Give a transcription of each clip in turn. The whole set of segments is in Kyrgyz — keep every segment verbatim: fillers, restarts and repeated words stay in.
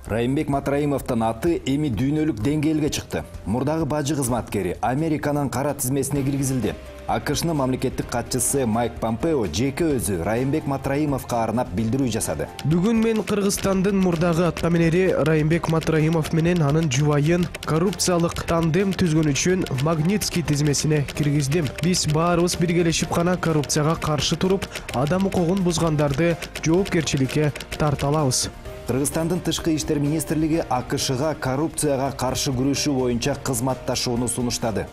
Райымбек Матраимовдун аты эми дүйнөлүк деңгээлге чыкты. Мурдагы бажы кызматкери Американын кара тизмесине киргизилди. АКШнын мамлекеттик катчысы Майк Помпео жеке өзү Райымбек Матраимовго арнап билдирүү жасады. Бүгүн мен Кыргызстандын мурдагы аттаменери Райымбек Матраимов менен анын жубайын коррупциялык тандем түзгөн үчүн Магнитский тизмесине киргиздим. Биз баарыбыз биргелешип гана коррупцияга каршы туруп, адам укугун бузгандарды жоопкерчиликке тарта алабыз. Кыргызстандын тышкы иштер министрлиги АКШга коррупцияга каршы күрөшүү боюнча кызматташууну сунуштады.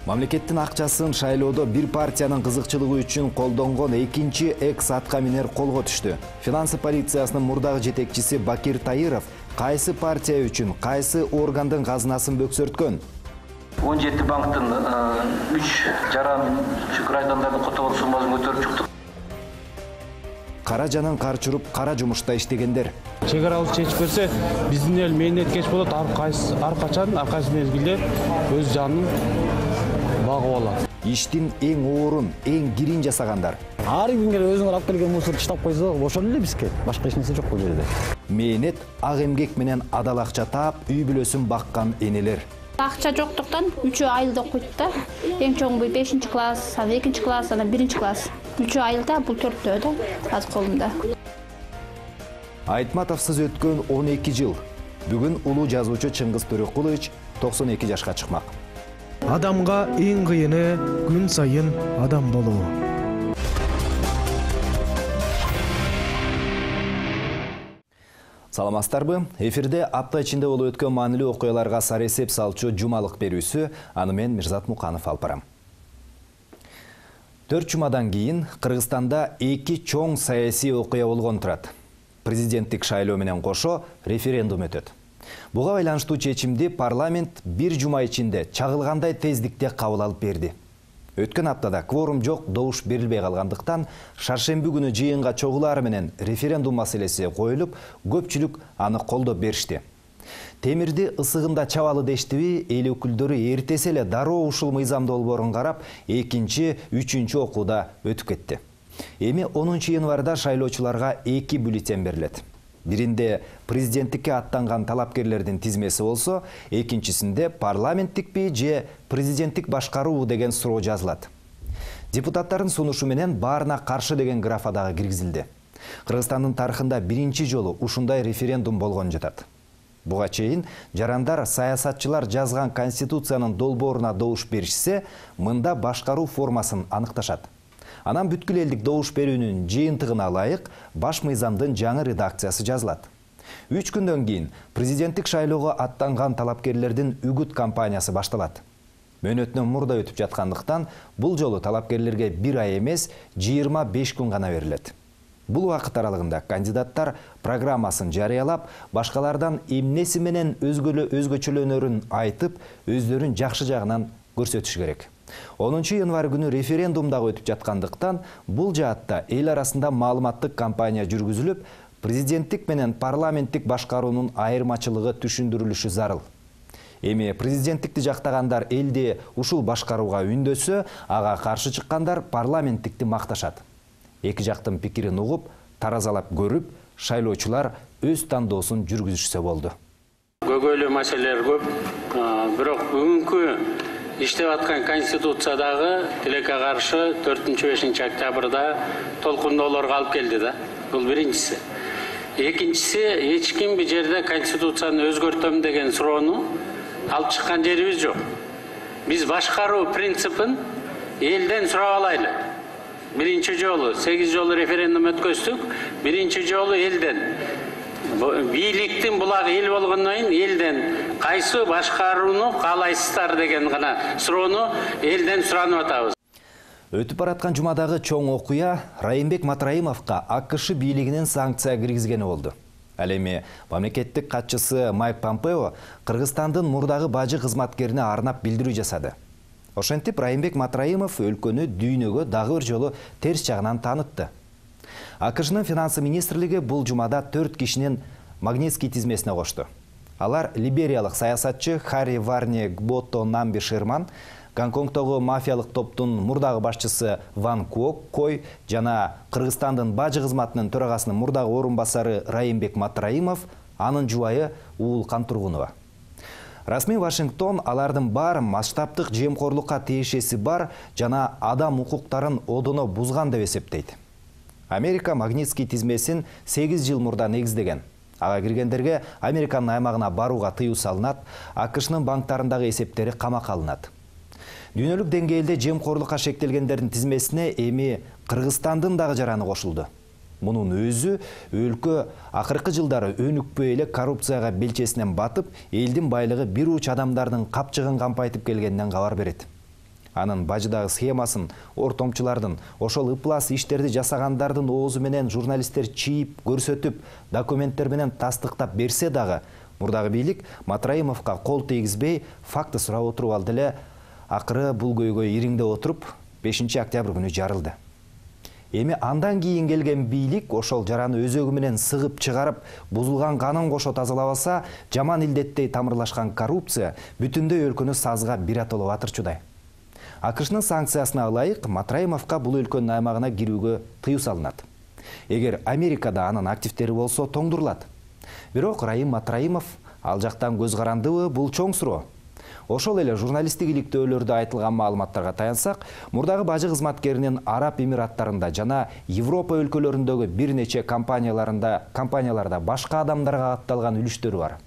Мамлекеттин акчасын шайлоодо бир партиянын кызыкчылыгы үчүн колдонгон экинчи экс атка минер колго түштү. Финансы полициясынын мурдагы жетекчиси Бакир Таиров кайсы партия үчүн кайсы органдын казынасын бөксөрткөн? он жети банктын үч жарым шүкүр айдандардын которгон суммасын көтөрүп чыктык. Кара жанын карчырып, кара жумушта иштегендер. Чек аралык чечип берсе, биздин эл мээнеткеч болот, ар кайсы ар качан, ар кайсы мезгилде өз жанын багып алат. Иштин эң оорун, эң кирин жасагандар. Ар кимге өзүңөр алып келген мусор таштап койсо, ошол эле бизге. Башка эч нерсе жок бул жерде. Мээнет, ак эмгек менен адал акча таап, үй бүлөсүн баккан энелер. Акча жоктуктан үчөө айылда окуйт да. Эң чоңу бешинчи класс, анан экинчи класс, анан биринчи класс. Үчөө айылда, бул төртөө да, азыр колумда. Айтматовсуз өткөн он эки жыл. Бүгүн улуу жазуучу Чыңгыз Төрөкулович токсон эки жашка чыкмак. Адамга эң кыйыны күн сайын адам болуу. Саламатсыздарбы? Эфирде апта ичинде болуп өткөн маанилүү окуяларга сар эсеп салчу жумалык берүүсү, аны мен Мирзат Муканов алып барам. Төрт жумадан кийин Кыргызстанда эки чоң саясий окуя болгон турат. Президенттик шайлоо менен кошо референдум өтөт. Буга байланыштуу чечимди парламент бир жума ичинде чагылгандай тездикте кабыл алып берди. Өткөн аптада кворум жок, добуш берилбей калгандыктан шаршемби күнү жыйынга чогулары менен референдум маселеси коюлуп, көпчүлүк аны колдоп беришти. Темирди ысыгында чабалы дештиби, эл өкүлдөрү эртесе эле дароо ушул мыйзам долбоорун карап, экинчи, үчүнчү окууда өтүп кетти. Эми онунчу январда шайлоочуларга эки бюллетень берилет. Биринде президенттикке аттанган талапкерлердин тизмеси болсо, экинчисинде парламенттикпи же президенттик башкаруу деген суроо жазылат. Депутаттардын сунушу менен баарына каршы деген графа дагы киргизилди. Кыргызстандын тарыхында биринчи жолу ушундай референдум болгон жатат. Буга чейин жарандар саясатчылар жазган конституциянын долбооруна добуш беришсе, мында башкаруу формасын аныкташат. Анан бүткүл элдик добуш берүүнүн жыйынтыгына ылайык баш мыйзамдын жаңы редакциясы жазылат. Үч күндөн кийин президенттик шайлоого аттанган талапкерлердин үгүт кампаниясы башталат. Мөөнөтүнөн мурда өтүп жаткандыктан бул жолу талапкерлерге бир ай эмес, жыйырма беш күн гана берилет. Бул убакыт аралыгында кандидаттар программасын жарыялап, башкалардан эмнеси менен өзгөчөлөнөрүн айтып, өздөрүн жакшы жагынан көрсөтүш керек. онунчу январь күнү референдум дагы өтүп жаткандыктан, бул жаатта эл арасында маалыматтык кампания жүргүзүлүп, президенттик менен парламенттик башкаруунун айырмачылыгы түшүндүрүлүшү зарыл. Эми президенттикти жактагандар элди ушул башкарууга үндөсө, ага каршы чыккандар парламенттикти макташат. Эки жактын пикирин угуп, таразалап көрүп, шайлоочулар өз тандоосун жүргүзүшсө болду. Көйгөйлүү маселелер көп, бирок бүгүнкү иштеп аткан конституциядагы тилекке каршы төртүнчү бешинчи октябрда толкундоолорго алып келди да. Бул биринчиси. Экинчиси, эч ким бир жерде конституцияны өзгөртөм деген суроону алып чыккан жерибиз жок. Биз башкаруу принципин элден сурап алайлы. Биринчи жолу сегиз жолу референдум өткөздүк. Биринчи жолу элден. Бийликтин булагы эл болгондон кийин элден кайсы башкарууну каалайсыздар деген гана суроону элден суранып атабыз. Өтүп бараткан жумадагы чоң окуя Райымбек Матраимовго АКШ бийлигинин санкция киргизгени болду. Ал эми мамлекеттик катчысы Майк Помпео Кыргызстандын мурдагы бажы кызматкерине арнап билдирүү жасады. Ошентип Райымбек Матраимов өлкөнү дүйнөгө дагы бир жолу терс жагынан таанытты. АКШнын финансы министрлиги бул жумада төрт кишинин Магнитский тизмесине кошту. Алар либериялык саясатчы Хари Варне Гбото Намби Шерман, Гонконгдогу мафиялык топтун мурдагы башчысы Ван Куок Кой жана Кыргызстандын бажы кызматынын төрагасынын мурдагы орун басары Райымбек Матраимов, анын жубайы Уул Кантургунова. Расмий Вашингтон алардын баары масштабдык жемкорлукка тиешеси бар жана адам укуктарын одоно бузган деп эсептейт. Америка Магнитский тизмесин сегиз жыл мурда негиздеген. Ага киргендерге Американын аймагына барууга тыюу салынат, АКШнын банктарындагы эсептери камакка алынат. Дүйнөлүк деңгээлде жемкорлукка шектелгендердин тизмесине эми Кыргызстандын дагы жараны кошулду. Мунун өзү өлкө акыркы жылдары өнүкпөй эле коррупцияга белчесинен батып, элдин байлыгы бир уч адамдардын капчыгын кампайтып келгенинен кабар берет. Анын бажыдагы схемасын ортомчулардын, ошол ыплас иштерди жасагандардын оозу менен журналисттер чийип, көрсөтүп, документтер менен тастыктап берсе дагы, мурдагы бийлик Матраимовго кол тийгизбей, факты сурап отуруп алды эле, акыры бул көйгөй ириңде отуруп, бешинчи октябрь күнү жарылды. Эми андан кийин келген бийлик ошол жараны өзөгү менен сыгып чыгарып, бузулган канын кошо тазалабаса, жаман илдеттей тамырлашкан коррупция бүтүндөй өлкөнү сазга биратолоп атырчудай. АКШнын санкциясына ылайык Матраимовго бул өлкөнүн аймагына кирүүгө тыюу салынат. Эгер Америкада анын активдери болсо тоңдурулат. Бирок Райым Матраимов ал жактан көз карандыбы, бул чоң суроо. Ошол эле журналисттик иликтөөлөрдө айтылган маалыматтарга таянсак, мурдагы бажы кызматкеринин Араб Эмираттарында жана Европа өлкөлөрүндөгү бир нече компанияларында компанияларда башка адамдарга катталган үлүштөрү бар.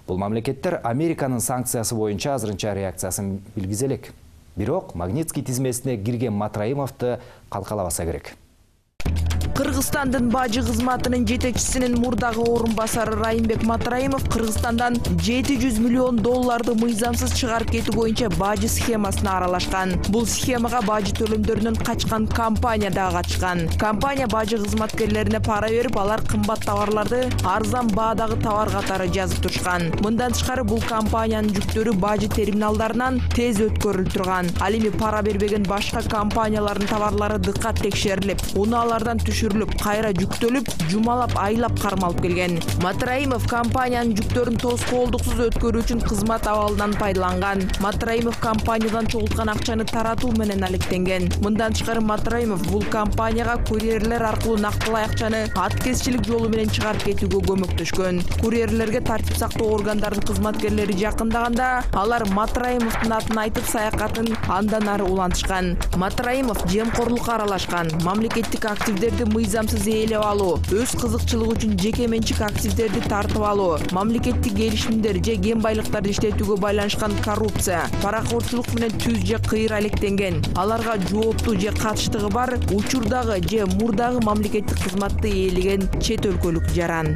Бул мамлекеттер Американын санкциясы боюнча азырынча реакциясын билгизе элек. Бирок Магнитский тизмесине кирген Матраимовду калкалабаса керек. Кыргызстандын бажы кызматынын жетекчисинин мурдагы орун басары Райымбек Матраимов Кыргызстандан жети жүз миллион долларды мыйзамсыз чыгарып кетүү боюнча бажы схемасына аралашкан. Бул схемага бажы төлөмдөрүнөн качкан компания да катышкан. Компания бажы кызматкерлерине пара берип, алар кымбат товарларды арзан баадагы товар катары жазып турушкан. Мындан тышкары бул компаниянын жүктөрү бажы терминалдарынан тез өткөрүлүп турган. Ал эми пара бербеген башка компаниялардын товарлары дыккат текшерилип, унаалардан түшүрүлүп, кайра жүктөлүп, жумалап, айлап кармалып келген. Матраимов компаниянын жүктөрүн тоскоолдуксуз өткөрүү үчүн кызмат абалынан пайдаланган. Матраимов компаниядан чогулткан акчаны таратуу менен алектенген. Мындан тышкары Матраимов бул компанияга курьерлер аркылуу нактылай акчаны аткезчилик жолу менен чыгарып кетүүгө көмөктөшкөн. Курьерлерге тартип сактоо органдарынын кызматкерлери жакындаганда, алар Матраимовдун атын айтып саякатын андан ары улантышкан. Матраимов жемкорлукка аралашкан, мамлекеттик активдерди мыйзамсыз ээлеп алуу, өз кызыкчылыгы үчүн жеке менчик активдерди тартып алуу, мамлекеттик келишимдер же кен байлыктарды иштетүүгө байланышкан коррупция, паракорчулук менен түз же кыйыр алектенген. Аларга жооптуу же катыштыгы бар учурдагы же мурдагы мамлекеттик кызматты ээлеген чет өлкөлүк жаран.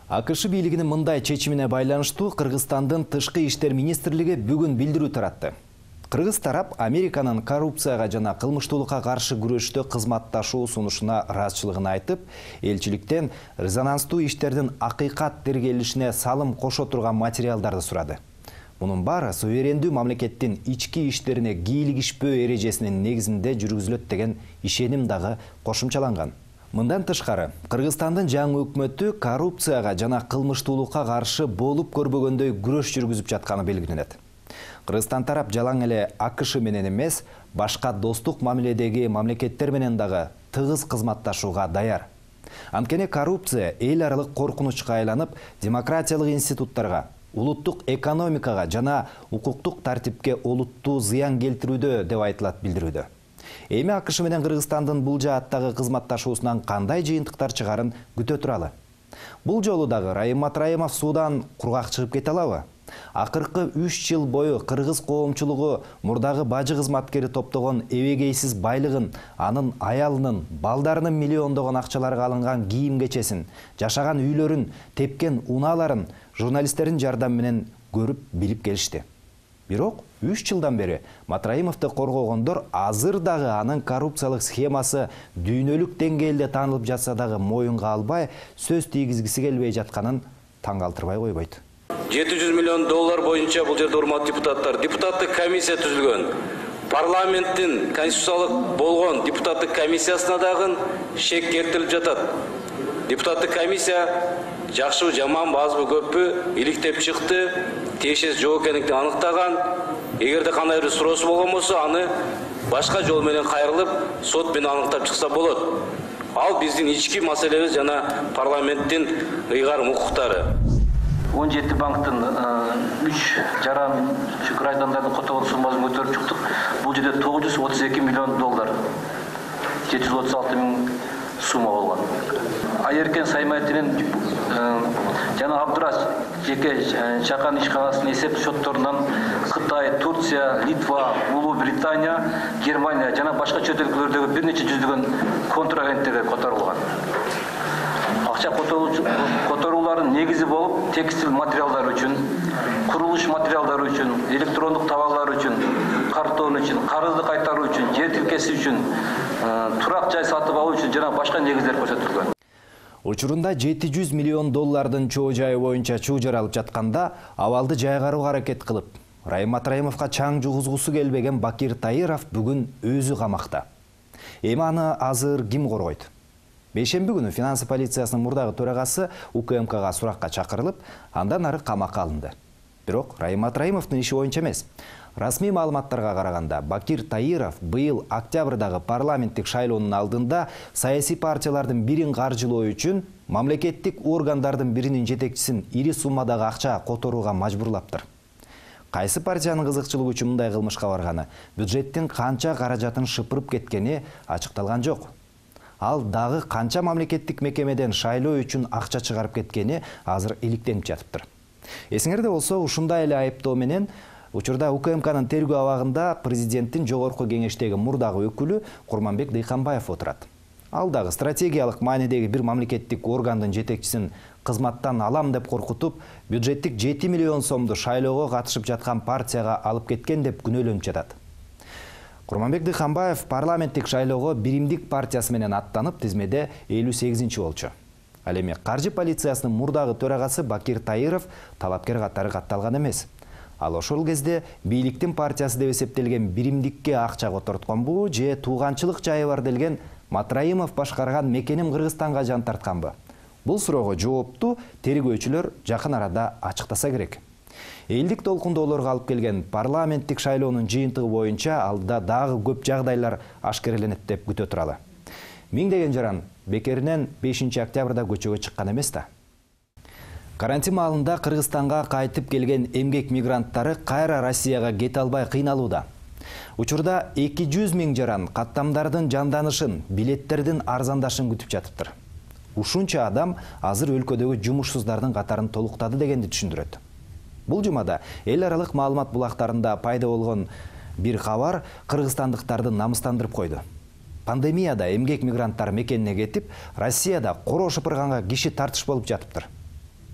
АКШ бийлигинин мындай чечимине байланыштуу Кыргызстандын Тышкы иштер министрлиги бүгүн билдирүү таратты. Кыргыз тарап Американын коррупцияга жана кылмыштуулукка каршы күрөштө кызматташуу сунушуна ыраазычылыгын айтып, элчиликтен резонанстуу иштердин акыйкат тергелишине салым кошо турган материалдарды сурады. Мунун баары суверендүү мамлекеттин ички иштерине кийлигишпөө эрежесинин негизинде жүргүзүлөт деген ишеним дагы кошумчаланган. Мындан тышкары, Кыргызстандын жаңы өкмөтү коррупцияга жана кылмыштуулукка каршы болуп көрбөгөндөй күрөш жүргүзүп жатканы белгиленет. Кыргызстан тарап жалаң эле АКШ менен эмес, башка достук мамиледеги мамлекеттер менен дагы тыгыз кызматташууга даяр. Анткени коррупция эл аралык коркунучка айланып, демократиялык институттарга, улуттук экономикага жана укуктук тартипке олуттуу зыян келтирүүдө деп айтылат билдирүүдө. Эми АКШ менен Кыргызстандын бул жааттагы кызматташуусунан кандай жыйынтыктар чыгарын күтө туралы. Бул жолу дагы Райым Матраимов суудан кургак чыгып кете алабы? Акыркы үч жыл бою кыргыз коомчулугу мурдагы бажы кызматкери топтогон эбегейсиз байлыгын, анын аялынын, балдарынын миллиондогон акчаларга алынган кийим-кечесин, жашаган үйлөрүн, тепкен унааларын журналисттердин жардамы менен көрүп, билип келишти. Бирок үч жылдан бери Матраимовду коргогондор азыр дагы анын коррупциялык схемасы дүйнөлүк деңгээлде таанылып жатса дагы моюнга албай, сөз тийгизгиси келбей жатканын таң калтырбай койбойт. жети жүз миллион доллар боюнча бул жерде урматтуу депутаттар, депутаттык комиссия түзүлгөн. Парламенттин конституциялык болгон депутаттык комиссиясына дагы шек келтирилип жатат. Депутаттык комиссия жакшы жаман базбы көппү иликтеп чыкты. тиешеси жок экендигин аныктаган. Эгерде кандай бир суроосу болгон болсо, аны башка жол менен кайрылып, сот менен аныктап чыкса болот. Ал биздин ички маселебиз жана парламенттин ыйгарым укуктары. он жети банктын үч жарым граждандардын котогон суммасын көтөрүп чыктык. Бул жерде тогуз жүз отуз эки миллион доллар, жети жүз отуз алты миң сумма болгон. Айеркен Саймайтинин жана Абдураш жеке чакан ишканасынын эсеп счетторунан Кытай, Турция, Литва, Улуу Британия, Германия жана башка чет өлкөлөрдөгү бир нече жүздөгөн контрагенттерге которулган. Акча которуулардын негизи болуп, текстил материалдар үчүн, курулуш материалдары үчүн, электрондук товарлар үчүн, картон үчүн, карызды кайтаруу үчүн, жер тилкеси үчүн, турак жай сатып алуу үчүн жана башка негиздер көрсөтүлгөн. Учурунда жети жүз миллион доллардын чоо жайы боюнча чуу жаралып жатканда, абалды жайгарууга аракет кылып, Райым Матраимовго чаң жугузгусу келбеген Бакир Таиров бүгүн өзү камакта. Эми аны азыр ким коргойт? Бейшемби күнү финансы полициясынын мурдагы төрагасы УКМКга суракка чакырылып, андан ары камакка алынды. Бирок Райым Матраимовдун иши боюнча эмес. Расмий маалыматтарга караганда, Бакир Таиров быйыл октябрдагы парламенттик шайлоонун алдында саясий партиялардын бирин каржылоо үчүн мамлекеттик органдардын биринин жетекчисин ири суммадагы акча которууга мажбурлаптыр. Кайсы партиянын кызыкчылыгы үчүн мындай кылмышка барганы, бюджеттин канча каражатын шыпырып кеткени ачыкталган жок. Ал дагы канча мамлекеттик мекемеден шайлоо үчүн акча чыгарып кеткени азыр иликтенип жатыптыр. Эсиңерде болсо, ушундай эле айыптоо менен учурда УКМКнын тергөө абагында президенттин жогорку кеңештеги мурдагы өкүлү Курманбек Дыйканбаев отурат. Ал дагы стратегиялык маанидеги бир мамлекеттик органдын жетекчисин кызматтан алам деп коркутуп, бюджеттик жети миллион сомду шайлоого катышып жаткан партияга алып кеткен деп күнөөлөнүп жатат. Курманбек Дыйканбаев парламенттик шайлоого Биримдик партиясы менен аттанып, тизмеде элүү сегизинчи болчу. Ал эми каржы полициясынын мурдагы төрагасы Бакир Таиров талапкер катары катталган эмес. Ал ошол кезде бийликтин партиясы деп эсептелген Биримдикке акча котортконбу же тууганчылык жайы бар делген Матраимов башкарган мекеним Кыргызстанга жан тартканбы? Бул суроого жоопту тергөөчүлөр жакын арада ачыктаса керек. Элдик толкундоолорго алып келген парламенттик шайлоонун жыйынтыгы боюнча алда дагы көп жагдайлар ашкереленет деп күтө туралы. Миңдеген жаран бекеринен бешинчи октябрда көчөгө чыккан эмес да. Карантин маалында Кыргызстанга кайтып келген эмгек мигранттары кайра Россияга кете албай кыйналууда. Учурда эки жүз миң жаран каттамдардын жанданышын, билеттердин арзандашын күтүп жатыптыр. Ушунча адам азыр өлкөдөгү жумушсуздардын катарын толуктады дегенди түшүндүрөт. Бул жумада эл аралык маалымат булактарында пайда болгон бир кабар кыргызстандыктарды намыстандырып койду. Пандемияда эмгек мигранттар мекенине кетип, Россияда коро шыпырганга киши тартыш болуп жатыптыр.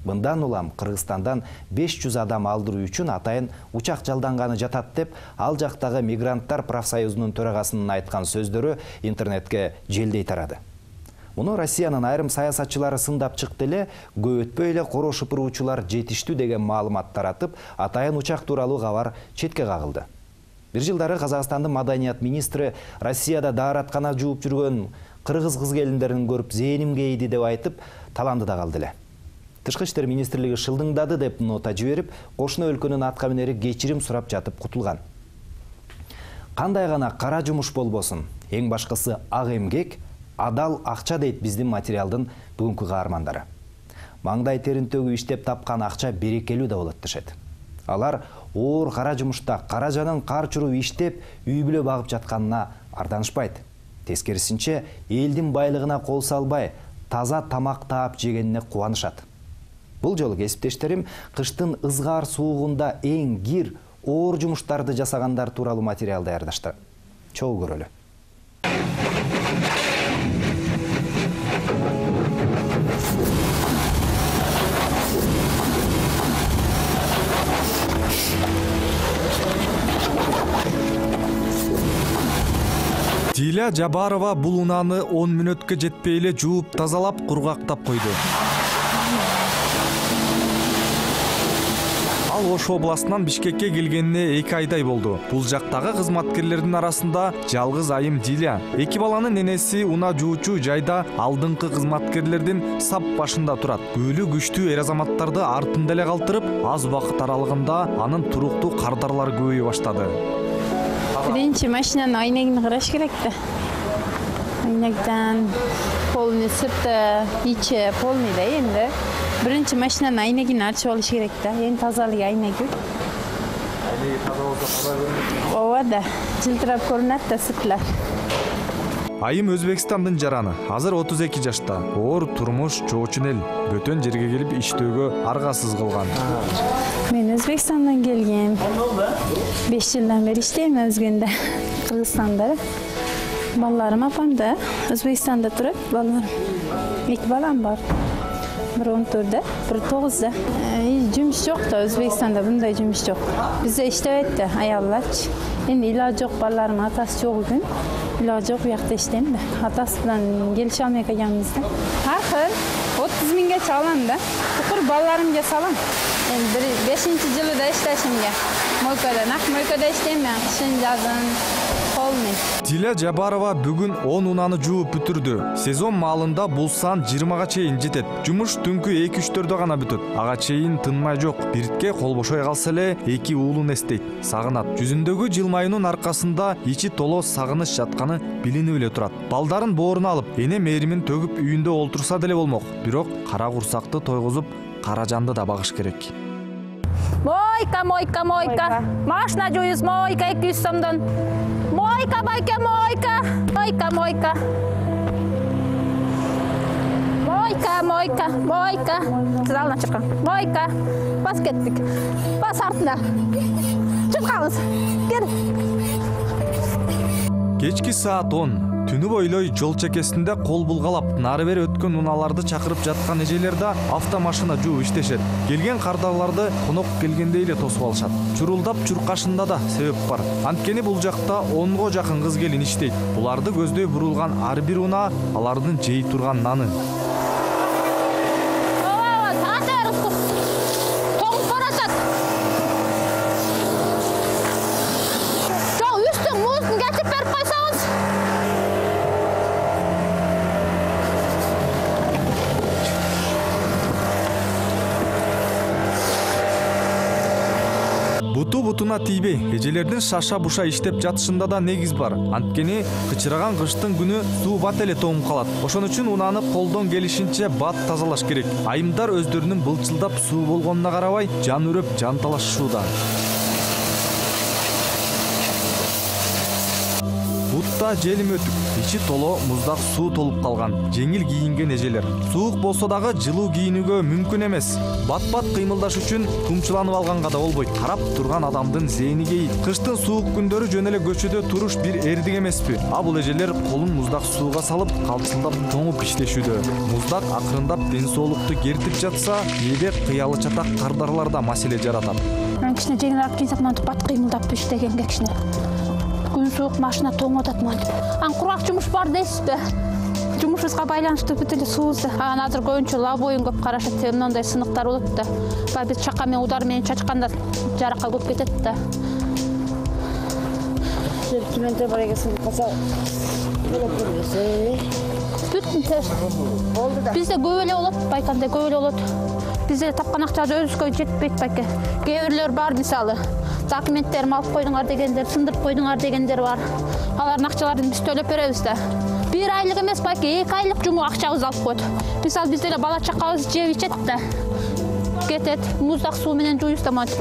Мындан улам Кыргызстандан беш жүз адам алдыруу үчүн атайын учак жалданганы жатат деп, ал жактагы мигранттар профсоюзунун төрагасынын айткан сөздөрү интернетке желдей тарады. Муну Россиянын айрым саясатчылары сындап чыкты эле, көп өтпөй эле коро шыпыруучулар жетиштүү деген маалымат таратып, атайын учак тууралуу кабар четке кагылды. Бир жылдары Казакстандын маданият министри Россияда даараткана жууп жүргөн кыргыз кыз келиндерин көрүп зээним кейди деп айтып, таланды да калды эле. Тышкы иштер министрлиги шылдыңдады деп нота жиберип, кошуна өлкөнүн атка минери кечирим сурап жатып кутулган. Кандай гана кара жумуш болбосун, эң башкысы ак эмгек, адал акча дейт биздин материалдын бүгүнкү каармандары. Маңдай терин төгүп иштеп тапкан акча берекелүү да болот дешет. Алар оор кара жумушта каражанын кар чуруп иштеп, үй бүлө багып жатканына арданышпайт. Тескерисинче, элдин байлыгына кол салбай, таза тамак таап жегенине кубанышат. Бул жолу кесиптештерим кыштын ызгаар суугунда эң кир, оор жумуштарды жасагандар тууралуу материал даярдашты. Чогуу көрөлү. Диля Жабарова бул унааны он мүнөткө жетпей эле жууп тазалап кургактап койду. Ал Ал Ош областынан Бишкекке келгенине эки айдай болду. Бул жактагы кызматкерлердин арасында жалгыз айым Диля. Эки баланын ненеси унаа жуучу жайда алдыңкы кызматкерлердин сап башында турат. Өлү күчтүү эр азаматтарды артында эле калтырып, аз убакыт аралыгында анын туруктуу кардарлары көбөйө баштады. Биринчи машинанын айнегин караш керек да. Айнектен полный сырты, ичи полный да энди. Биринчи машинанын айнегин ачып алыш керек да. Эң тазалыгы айнеги. Айнеги таза болсо кандай көрүнөт? Ооба да, жылтырап көрүнөт да сыртлар. Айым Өзбекстандын жараны. Азыр отуз эки жашта. Оор турмуш, жоочун эл. Бөтөн жерге келип иштөөгө аргасыз кылган. Мен Өзбекстандан келгем. беш жылдан бери иштейм Өзгөндө, Кыргызстанда. Балдарым апамда, Өзбекстанда турат, балдарым. Эки балам бар. Бир он төрттө, бир тогузда. Жумуш жок да, Өзбекстанда мындай жумуш жок. Бизде иштебейт да, аялларчы. Эми илажы жок, балдарымдын атасы жок экен. Илажы жок, биякта иштейм да. Атасы менен келише алмай калганбыз да. Аркы отуз миңге чалам да. Укур балдарымга салам. Эми бир бешинчи жылда иштешимге. Мойкада, нак мойкада иштейм мен, кышын жазын. Диля Жабарова бүгүн он унааны жууп бүтүрдү. Сезон маалында бул сан жыйырмага чейин жетет. Жумуш түнкү эки үчтөрдө гана бүтөт. Ага чейин тынмай жок. Биртке кол бошой калса эле эки уулун эстейт, сагынат. Жүзүндөгү жылмаюунун аркасында ичи толо сагыныч жатканы билинип эле турат. Балдарын бооруна алып, эне мээримин төгүп үйүндө олтурса деле болмок. Бирок кара курсакты тойгузуп, кара жанды да багыш керек. Мойка, мойка, мойка. Машина жуюз, мойка эки жүз сомдон. Мойка, байке, мойка. Мойка, мойка. Мойка, мойка, мойка. Сиз алдына чыккан. Мойка. Бас кеттик. Бас артына. Чыкканбыз. Кел. Кечки саат он. Түнү бойлой жол чекесинде кол булгалап, нары бери өткөн унааларды чакырып жаткан эжелер да автомашина жууп иштешет. Келген кардарларды конок келгендей эле тосуп алышат. Чурулдап чуркашында да себеп бар. Анткени бул жакта онго жакын кыз келин иштейт. Буларды көздөй бурулган ар бир унаа алардын жей турган наны. Буту-бутуна тийбей, эжелердин шаша-буша иштеп жатышында да негиз бар. Анткени кычыраган кыштын күнү суу бат эле тоңуп калат. Ошон үчүн унааны колдон келишинче бат тазалаш керек. Айымдар өздөрүнүн былчылдап суу болгонуна карабай, жан үрөп жан талашышууда. Бутта желим өтүп, ичи толо муздак суу толуп калган. Жеңил кийинген эжелер. Суук болсо дагы жылуу кийинүүгө мүмкүн эмес. Бат-бат кыймылдаш үчүн тумчуланып алганга да болбойт. Карап турган адамдын зээни кейит. Кыштын суук күндөрү жөн эле көчөдө туруш бир эрдик эмеспи? А бул эжелер колун муздак сууга салып, калчылдап тоңуп иштешүүдө. Муздак акырындап ден соолукту кертип жатса, кээде кыялы чатак кардарларда маселе жаратат. Мен кичине жеңилирээк кийсек, мынтип бат кыймылдап иштегенге кичине. Күн суук, машина тоңуп атат мынтип. Ан курак жумуш бар дейсизби? Жумушубузга байланыштуу бүт эле суубузду. Анан азыр көбүнчө лабойун көп карашат, мындай сыныктар болот да. Баягы биз чака менен удар менен чачканда жаракка көп кетет да. Киментер бар экенсиң, каса. Бүттүн терс. Бизде көп эле болот, байканда көп эле болот. Бизде тапкан акчабыз өзүбүзгө жетпейт байке. Кээ бирлер бар, мисалы, документтерин алып койдуңар дегендер, сындырып койдуңар дегендер бар. Алардын акчаларын биз төлөп беребиз да. Бир айлык эмес байке, эки айлык жуму акчабызды алып коет. Мисалы, бизде эле бала чакабыз жеп ичет да. Кетет, муздак суу менен жуйбуз да мынтип.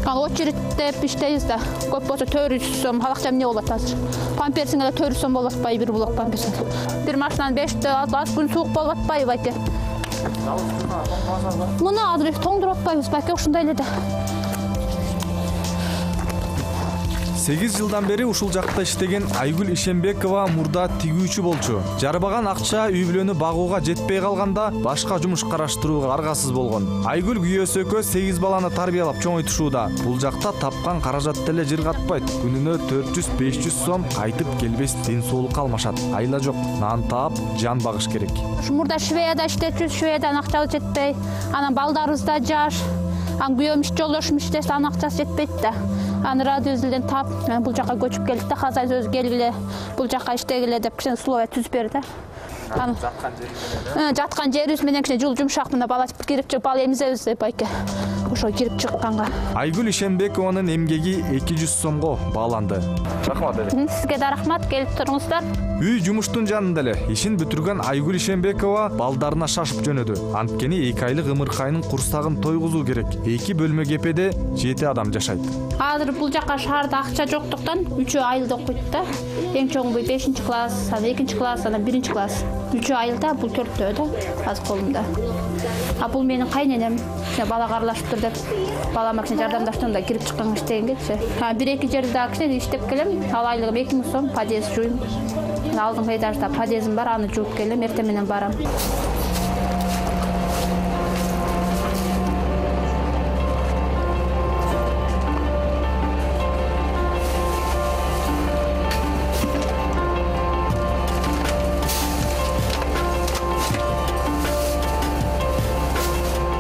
Ал очередтеп иштейбиз да. Көп болсо төрт жүз сом, алакча эмне болот азыр? Памперсиңе эле төрт жүз сом болуп атпайбы, бир блок памперсиң. Бир машинанын беште аз күн суук болуп атпайбы байке? Муну азыр тоңдуруп атпайбыз байке, ушундай эле да. сегиз жылдан бери ушул жакта иштеген Айгүл Ишембекова мурда тигүүчү болчу. Жарбаган акча үй бүлөнү багууга жетпей калганда башка жумуш караштырууга аргасыз болгон. Айгүл күйөөсү экөө сегиз баланы тарбиялап чоңойтушууда. Бул жакта тапкан каражат деле жыргатпайт. Күнүнө төрт жүз беш жүз сом кайтып келбес ден соолукка алмашат. Айла жок, нан таап, жан багыш керек. Мурда Швеяда иштечүбүз, Швеядан акчабыз жетпей, анан балдарыбыз да жаш. Ан күйөөм иш жолдошум иштесе анын акчасы жетпейт да. Аны радиозден таап, бул жака көчүп келдик да, хозяйство өзү келгиле, бул жака иштегиле деп кичине условия түзүп берди. Жаткан жерибиз жаткан жерибиз менен кичине жул жумшак, мына бала кирип чыгып ал эмизебиз деп байке. Ошо кирип чыкканга. Айгүл Ишенбекованын эмгеги эки жүз сомго бааланды. Рахмат эле. Сизге да рахмат, келип туруңуздар. Үй жумуштун жанында эле ишин бүтүргөн Айгүл Ишенбекова балдарына шашып жөнөдү. Анткени эки айлык ымыркайнын курсагын тойгузуу керек. эки бөлмө кепеде жети адам жашайт. Азыр бул жака шаарда акча жоктуктан үчөө айылда окуйт да. Эң чоңу бешинчи класс, анан экинчи класс, анан биринчи класс. Үчөө айылда, бул төртөө да, азыр колумда. А бул менин кайненем, бала карлашып тур деп, балама кичине жардамдаштым да, кирип чыккан иштегенгечи. бир эки жерде дагы кичине иштеп келем, ал айлыгым эки миң сом, подъезд жууйм. Алдыңкы этажда подъездим бар, аны жууп келем, эртең менен барам.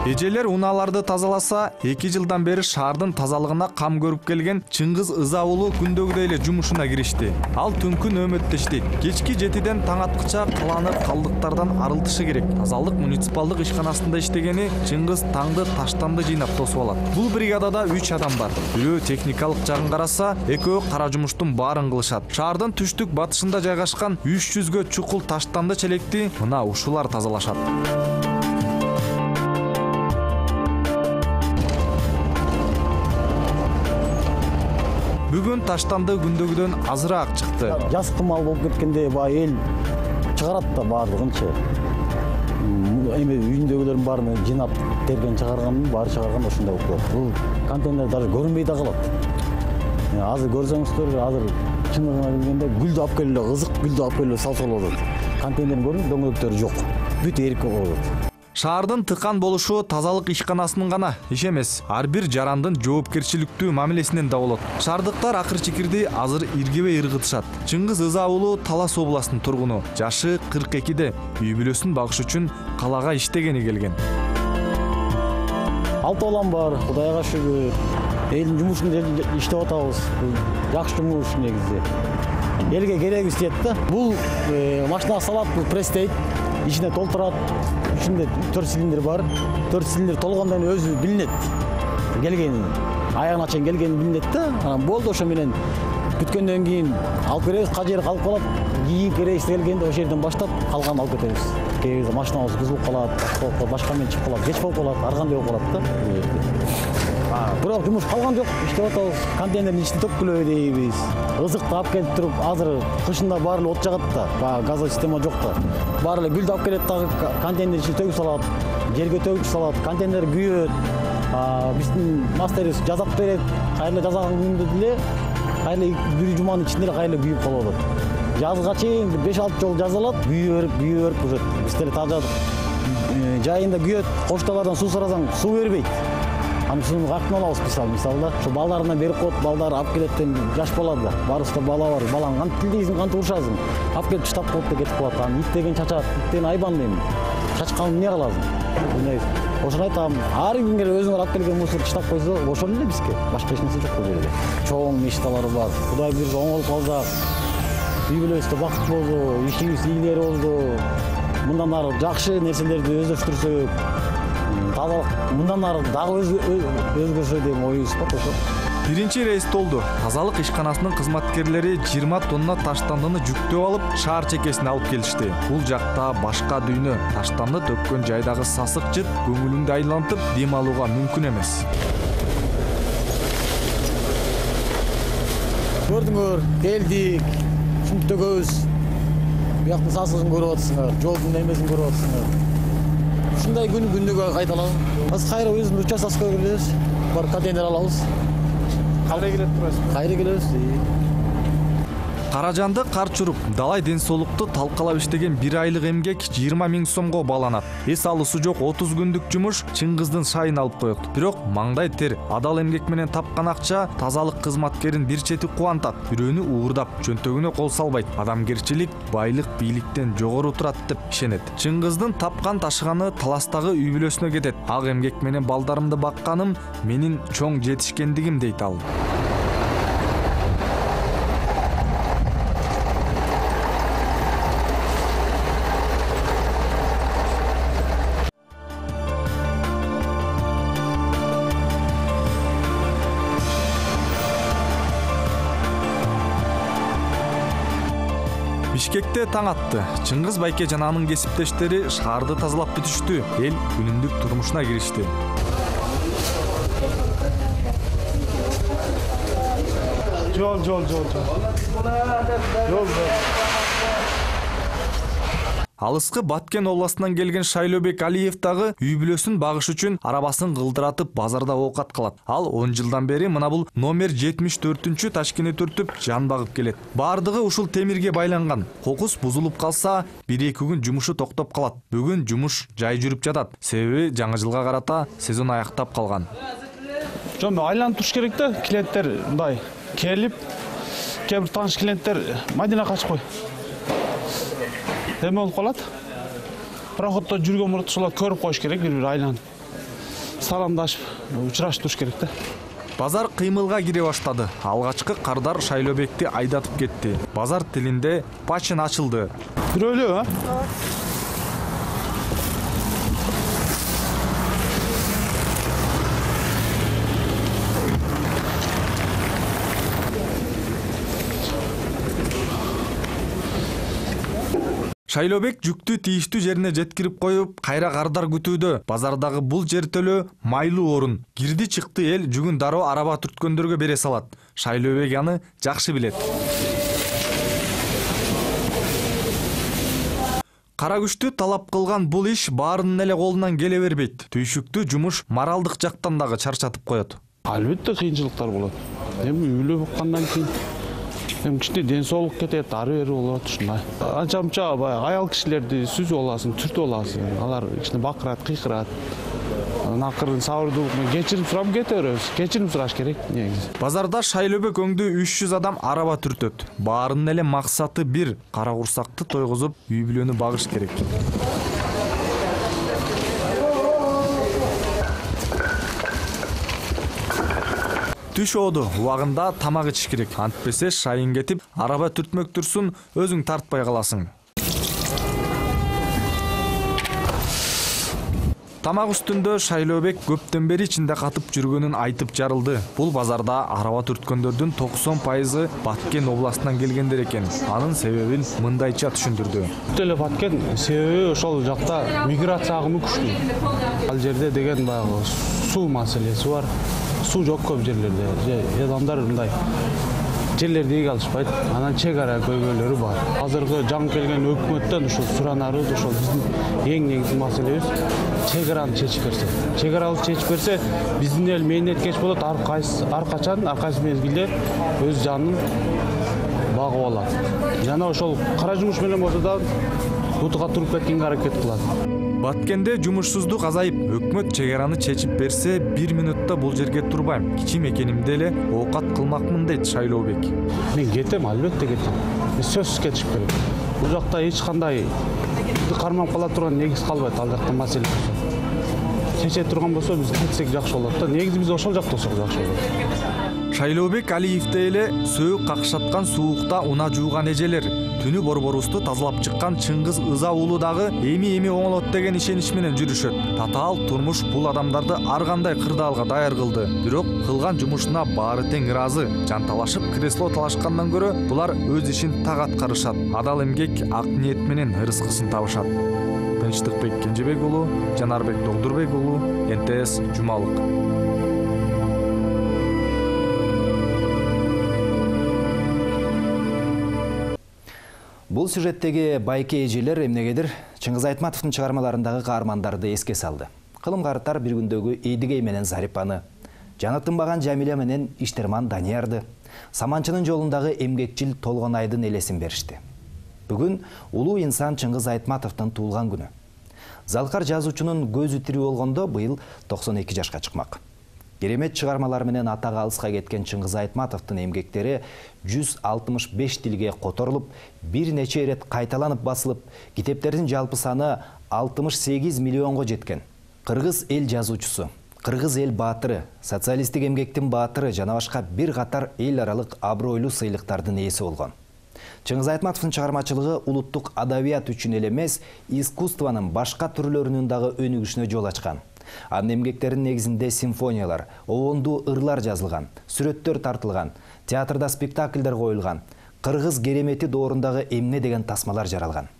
Эжелер унааларды тазаласа, эки жылдан бери шаардын тазалыгына кам көрүп келген Чыңгыз Ыза уулу күндөгүдөй эле жумушуна киришти. Ал түнкү нөөмөттө иштейт. Кечки жетиден таң аткыча каланы калдыктардан арылтышы керек. Тазалык муниципалдык ишканасында иштегени Чыңгыз таңды таштанды жыйнап тосуп алат. Бул бригадада үч адам бар. Бирөө техникалык жагын караса, экөө кара жумуштун баарын кылышат. Шаардын түштүк батышында жайгашкан үч жүзгө чукул таштанды челекти мына ушулар тазалашат. Бүгүн таштанды күндөгүдөн азыраак чыкты. Жаз кымал болуп кеткенде баягы эл чыгарат да баардыгынчы. Эми үйүндөгүлөрдүн баарын жыйнап терген чыгарганын баары чыгарган ошондой болуп калат. Бул контейнер даже көрүнбөй да калат. Азыр көрсөңүздөр, азыр чындыгына келгенде гүлдү алып келип эле, ызык гүлдү алып келип салса болот. Контейнердин көрүнүп дөңгөлөктөрү жок. Бүт эрип калат. Шаардын тыкан болушу тазалык ишканасынын гана иш эмес, ар бир жарандын жоопкерчиликтүү мамилесинен да болот. Шаардыктар акыр чекирди азыр иргебей ыргытышат. Чыңгыз Ыза уулу Талас областынын тургуну, жашы кырк экиде, үй бүлөсүн багыш үчүн калаага иштегени келген. Алты балам бар, Кудайга шүгүр. Элдин жумушун иштеп атабыз. Жакшы жумуш негизи. Элге кереги истейт да. Бул машинага салат, бул пресстейт, ичине толтурат. Ичинде төрт цилиндр бар. төрт цилиндр толгондон кийин өзү билинет. Келгени, аягына чейин келгени билинет да. Анан болду, ошо менен бүткөндөн кийин алып беребиз, кажер калып калат. Кийинки рейс келгенде ошол жерден баштап калганын алып кетебиз. Кээ бирде машинабыз бузулуп калат, башка менен чыгып калат, кеч болуп калат, ар кандай болуп калат да. Бирок жумуш калган жок, иштеп атабыз. Контейнердин ичин төккүлөбү дейбиз. Ызыкты алып келип туруп, азыр кышында баары эле от жагат да, баягы газовый система жок да. Баары эле гүлдү алып келет дагы контейнер ичине төгүп салат, жерге төгүп салат, контейнер күйөт. Биздин мастерибиз жазап берет, кайра жазган күндө деле, кайра бир жуманын ичинде эле кайра күйүп калып атат. Жазга чейин беш алты жолу жазалат, күйүп берип, күйүп берип уже биз деле тажадык. Жайында күйөт, кошталардан суу сурасаң, суу бербейт. Аны сууну каяктан алабыз мисалы, мисалда. Ошо балдарына берип коет, балдар алып келет, жаш бала да. Барыбызда бала бар. Балаң кантип тилдейсиң, кантип урушасың? Алып келип таштап коет да кетип калат. Аны ит деген чачат, ит деген айбан дейм. Чачканды эмне кыласың? Ошону айтам, ар кимге өзүңөр алып келген мусор таштап койсо, ошол эле бизге. Башка эч нерсе жок бул жерде. Чоң мечталары бар. Кудай бирге оңолуп калсак, үй бүлөбүздө бакыт болду, ишибиз ийгилери болду. Мындан ары жакшы нерселерди өздөштүрсөк, тазалык мындан ары дагы өзгөрсө деген оюбуз бар ошо. Биринчи рейс толду. Тазалык ишканасынын кызматкерлери жыйырма тонна таштандыны жүктөп алып, шаар чекесине алып келишти. Бул жакта башка дүйнө. Таштанды төккөн жайдагы сасык жыт көңүлүңдү айлантып, дем алууга мүмкүн эмес. Көрдүңөр, келдик. Шунт төгөбүз. Бияктын сасыгын көрүп атсыңар, жолдун немесин көрүп атсыңар. Ушундай күн күндөгө кайталанат. Азыр кайра өзүбүздүн участкага келебиз. Бар контейнер алабыз. Кайра келип турасыз? Кайра келебиз. Каражанды кар чуруп, далай ден соолукту талкалап иштеген бир айлык эмгек жыйырма миң сомго бааланат. Эс алуусу жок отуз күндүк жумуш Чыңгыздын шайын алып коет. Бирок маңдай тер, адал эмгек менен тапкан акча тазалык кызматкерин бир чети кубантат, бирөөнү уурдап, чөнтөгүнө кол салбайт. Адамгерчилик байлык бийликтен жогору турат деп ишенет. Чыңгыздын тапкан ташыганы таластагы үй бүлөсүнө кетет. Ак эмгек менен балдарымды бакканым менин чоң жетишкендигим дейт ал. Бишкекте таң атты. Чыңгыз байке жана анын кесиптештери шаарды тазалап бүтүштү. Эл күнүмдүк турмушуна киришти. Жол, жол, жол, жол. Алыскы Баткен областынан келген Шайлообек Алиев дагы үй бүлөсүн багыш үчүн арабасын кылдыратып базарда оокат калат. Ал он жылдан бери мына бул номер жетимиш төртүнчү ташкени түртүп жан багып келет. Бардыгы ушул темирге байланган. Кокус бузулуп калса, бир-эки күн жумушу токтоп калат. Бүгүн жумуш жай жүрүп жатат. Себеби жаңы жылга карата сезон аяктап калган. Жон айланып туруш керек да, клиенттер мындай келип, кээ бир тааныш клиенттер Мадина качып кой. Эме болуп калат. Проходдо жүргөн мурда ошолор көрүп коюш керек, бири-бири айланып. Саламдашып, учурашып туруш керек да. Базар кыймылга кире баштады. Алгачкы кардар Шайлообекти айдатып кетти. Базар тилинде пачын ачылды. Бирөөлө, а? Шайлообек жүктү тийиштүү жерине жеткирип коюп, кайра кардар күтүүдө. Базардагы бул жертөлө майлуу орун. Кирди чыкты эл жүгүн дароо араба түрткөндөргө бере салат. Шайлообек аны жакшы билет. Кара күчтү талап кылган бул иш баарынын эле колунан келе бербейт. Түйшүктүү жумуш моралдык жактан дагы чарчатып коет. Албетте кыйынчылыктар болот. Эми үйлө буккандан кийин эми кичине ден соолук кетет, ары бери болот ушундай. Анча-мунча баягы аял кишилерди сүзүп аласың, түртүп аласың. Алар кичине бакырат, кыйкырат. Акырын сабырдуулук менен кечирим сурап кете беребиз. Кечирим сураш керек негизи. Базарда Шайлообек өңдүү үч жүз адам араба түртөт. Баарынын эле максаты бир, кара курсакты тойгузуп, үй бүлөнү багыш керек. Түш ооду, убагында тамак ичиш керек. Антпесе шайын кетип, араба түртмөк турсун, өзүң тартпай каласың. Тамак үстүндө Шайлообек көптөн бери ичинде катып жүргөнүн айтып жарылды. Бул базарда араба түрткөндөрдүн токсон пайызы Баткен областынан келгендер экен. Анын себебин мындайча түшүндүрдү. Теле Баткен себеби ошол жакта миграция агымы күчтүү. Ал жерде деген баягы суу маселеси бар. Суу жок көп жерлерде. Же адамдар мындай жерлерди ийге алышпайт. Анан чек ара көйгөйлөрү бар. Азыркы жаңы келген өкмөттөн ушул суранарыбыз ошол биздин эң негизги маселебиз чек араны чечип берсе. Чек араны чечип берсе, биздин эл мээнеткеч болот, ар кайсы ар качан, ар кайсы мезгилде өз жанын багып алат. Жана ошол кара жумуш менен болсо да бутуга туруп кеткенге аракет кылат. Баткенде жумушсуздук азайып, өкмөт чек араны чечип берсе, бир минутта бул жерге турбайм. Кичим экенимде эле оокат кылмакмын дейт Шайлообек. Мен кетем, албетте кетем. Сөзсүз кетиш керек. Бул жакта эч кандай кармап кала турган негиз калбайт, ал жакта маселе болсо. Чече турган болсо биз кетсек жакшы болот да. Негизи биз ошол жакта болсок жакшы болот. Шайлообек Алиевде эле сөөк какшаткан суукта уна жууган эжелер, түнү борборубузду тазалап чыккан Чыңгыз Ыза уулу дагы эми-эми оңолот деген ишенич менен жүрүшөт. Татаал турмуш бул адамдарды ар кандай кырдаалга даяр кылды. Бирок кылган жумушуна баары тең ыраазы. Жанталашып кресло талашкандан көрө булар өз ишин так аткарышат. Адал эмгек ак ниет менен ырыскысын табышат. Тынчтыкбек Кенжебек уулу, Жанарбек Догдурбек уулу, Н Т С Жумалык. Бул сюжеттеги байке эжелер эмнегедир Чыңгыз Айтматовдун чыгармаларындагы каармандарды эске салды. Кылым карттар бир күндөгү Эдигей менен Зарипаны, жанытынбаган Жамиля менен Иштерман Даниярды, Саманчынын жолундагы эмгекчил Толгонайдын элесин беришти. Бүгүн улуу инсан Чыңгыз Айтматовдун туулган күнү. Залкар жазуучунун көзү тирүү болгондо быйыл токсон эки жашка чыкмак. Керемет чыгармалар менен атага алыска кеткен Чыңгыз Айтматовдун эмгектери жүз алтымыш беш тилге которулуп, бир нече ирет кайталанып басылып, китептердин жалпы саны алтымыш сегиз миллионго жеткен. Кыргыз эл жазуучусу, кыргыз эл баатыры, социалисттик эмгектин баатыры жана башка бир катар эл аралык абройлуу сыйлыктардын ээси болгон. Чыңгыз Айтматовдун чыгармачылыгы улуттук адабият үчүн эле эмес, искусствонун башка түрлөрүнүн дагы өнүгүшүнө жол ачкан. Анын эмгектеринин негизинде симфониялар, обондуу ырлар жазылган, сүрөттөр тартылган, театрда спектакльдер коюлган, кыргыз керемети доорундагы эмне деген тасмалар жаралган.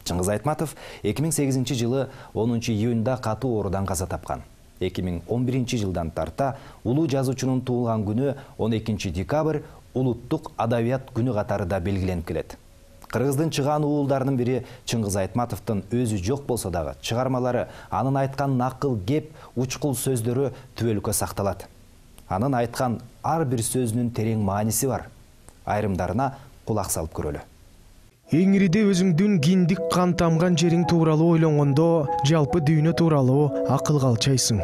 Чыңгыз Айтматов эки миң сегизинчи жылы онунчу июнда катуу оорудан каза тапкан. эки миң он биринчи жылдан тарта улуу жазуучунун туулган күнү он экинчи декабрь улуттук адабият күнү катары да белгиленип келет. Кыргыздын чыгаан уулдарынын бири Чыңгыз Айтматовдун өзү жок болсо дагы чыгармалары, анын айткан накыл кеп, учкул сөздөрү түбөлүккө сакталат. Анын айткан ар бир сөзүнүн терең мааниси бар. Айрымдарына кулак салып көрөлү. Эңириде өзүңдүн киндик кан тамган жериң тууралуу ойлонгондо, жалпы дүйнө тууралуу акылга алчайсың.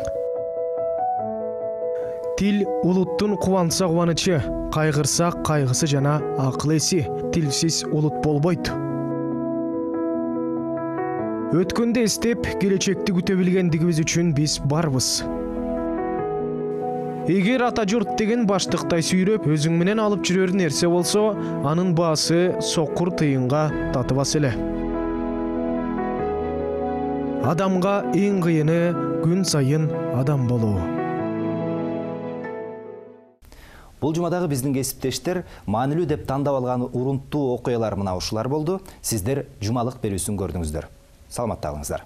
Тил улуттун кубанса кубанычы, кайгырса кайгысы жана акыл эси. Тилсиз улут болбойт. Өткөндө эстеп, келечекти күтө билгендигибиз үчүн биз барбыз. Эгер ата журт деген баштыктай сүйрөп, өзүң менен алып жүрөр нерсе болсо, анын баасы сокур тыйынга татыбас эле. Адамга эң кыйыны күн сайын адам болуу. Бул жумадагы биздин кесиптештер маанилүү деп тандап алган урунттуу окуялар мына ушулар болду. Сиздер жумалык берүүсүн көрдүңүздөр. Саламатта калыңыздар.